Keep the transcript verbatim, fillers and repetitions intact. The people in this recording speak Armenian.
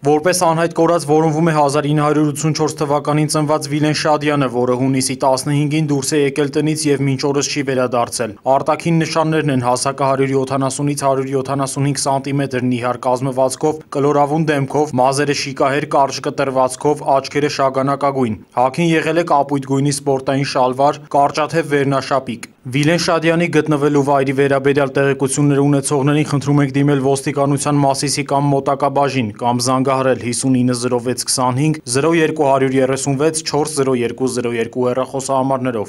Որպես անհայտ կորած որոնվում է հազար ինը հարյուր ութսունչորս թվականին ծնված Վիլեն Շադյանը, որը հունիսի տասնհինգին դուրս է եկել տնից եւ մինչ օրս չի վերադարձել։ Արտաքին նշաններն են հասակը հարյուր յոթանասունից հարյուր յոթանասունհինգ սանտիմետր նիհար կազմվածքով, կլորավուն դեմքով, մազերը շիկահեր կարճ կտրվածքով, աչքերը շագանակագույն։ Հագին եղել է կապույտ գույնի սպորտային շալվար, կարճաթև վերնաշապիկ։ Վիլեն Շադյանի գտնվելու վայրի վերաբերյալ տեղեկություններ ունեցողներին խնդրում ենք դիմել ոստիկանության Մասիսի կամ մոտակա բաժին կամ զանգահարել հիսունինը զրո վեց քսանհինգ զրո երկու երեսունվեց չորս զրո երկու զրո երկու հեռախոսահամարներով։